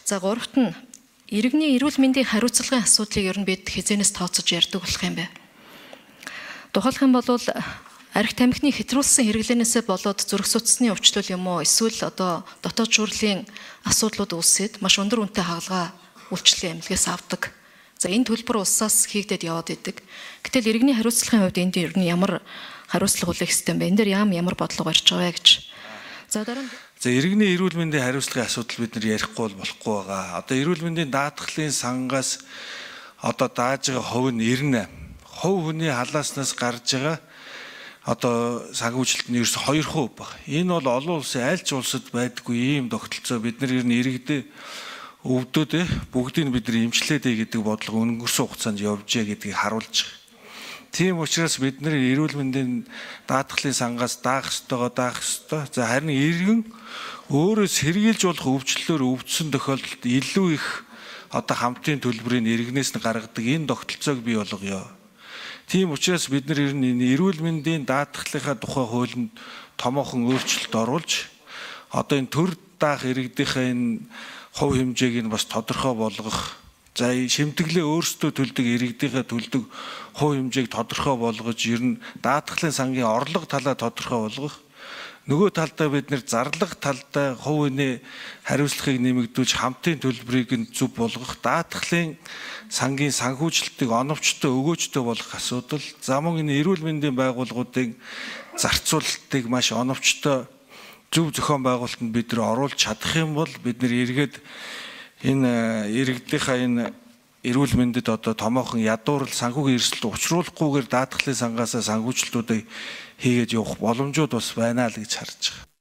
За гуравт нь иргэний эрүүл мэндийн хариуцлагын асуудлыг ер нь бид хязгаарнаас тооцож ярьдаг болох юм байна. Тухайлх юм бол архи тамхины хэтрүүлсэн хэрэглэнээсээ болоод зүрх судасны өвчлөл юм уу эсвэл одоо дотоод шүүрлийн асуудлууд үүсээд маш өндөр үнэтэй хагалгаа үйлчлэлийн эмнэлгээс авдаг. За энэ төлбөр улсаас хийгдээд яваад идэг. Гэтэл иргэний хариуцлагын хувьд энд ер нь ямар хариуцлага хүлээх ёстой юм бэ? Энд дээр ямар бодлого барьж байгаа вэ гэж. За дараа нь иргэний эрүүл мэндийн хариуцлагын асуудал бид нар ярихгүй болохгүй байгаа. Одоо эрүүл мэндийн даатгалын сангаас одоо дааж байгаа хувь нь 98. Хувь хүний халааснаас гарч байгаа одоо санхүүжилт нь ерөөс 2% баг. Энэ бол олон улсын аль ч улсад байдаггүй ийм тогтолцоо. Бид нар ер нь иргэдээ өвдөд бүгдийг бид нар эмчлээд гэдэг бодлого өнгөрсөн хугацаанд явжээ гэдгийг харуулж байгаа. Тийм учраас бид нар эрүүл мэндийн даатгалын сангаас даах ёстой. За харин иргэн өөрөө сэргийлж болох өвчлөлөөр өвдсөн тохиолдолд илүү их одоо хамтын төлбөрийн иргэнээс нь гаргадаг энэ тогтолцоог бий болгоё. Тийм учраас бид нар ер нь эрүүл мэндийн даатгалынхаа тухай хуулинд томоохон өөрчлөлт оруулж одоо энэ төр даах иргэдийнхээ энэ хувь хэмжээг нь бас тодорхой болгох. За шимтгэлээ өөрсдөө төлдөг иргэдийнхээ төлдөг хувь хэмжээг тодорхой болгож ер нь даатгалын сангийн орлого талаа тодорхой болгох. Нөгөө талдаа бид нэр зарлага талдаа хувь хүний хариуцлагыг нэмэгдүүлж хамтын төлбөрийг нь зөв болгох. Даатгалын сангийн санхүүжилтийг оновчтой өгөөжтэй болгох асуудал. За мөн энэ эрүүл мэндийн байгууллагуудын зарцуулалтыг маш оновчтой зөв зохион байгуулалтанд бид нар оруулж чадах юм бол бид нар эргээд энэ иргэдийнхаа энэ эрүүл мэндэд одоо томоохон ядуурл санхүүгийн эрсдэлд учруулахгүйгээр даатгалын сангаасаа санхүүжилтүүдийг хийгээд явах боломжууд бас байна л гэж харж байгаа.